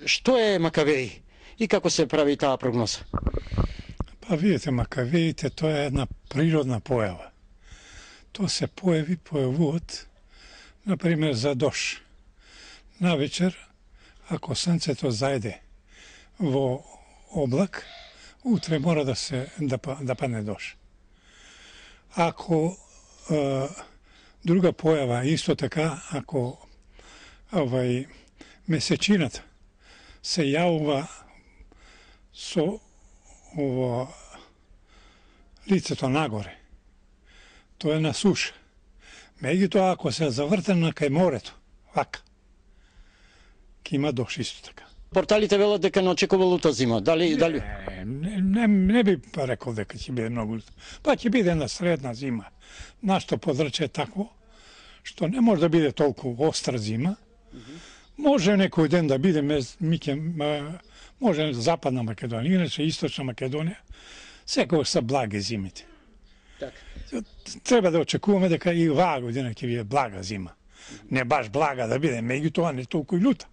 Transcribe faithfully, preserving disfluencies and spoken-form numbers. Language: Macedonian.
Што е Макавеи и како се прави таа прогноза? Па видите, Макавеите тоа е една природна појава. Тоа се појави, појавуваат, например, за дош. Навечер, ако сонцето зајде во облак, утре мора да се да, да падне дош. Ако е, друга појава исто така, ако овај месечината се јавува со ово лицето нагоре, тоа е на суша. Меѓутоа, ако се завртена кај морето, вака, ќе има дош исто така. Порталите велат дека не очекува лута зима. Дали дали Не, не, не би рекол дека ќе биде многу лута. Па ќе биде една средна зима. Нашто подраче е такво што не може да биде толку остра зима. Може некој ден да биде миќе, може западна Македонија, иначе источна Македонија, секогаш се благи зимите. Така. Треба да очекуваме дека и оваа година ќе биде блага зима. Не баш блага да биде, меѓутоа не толку и лута.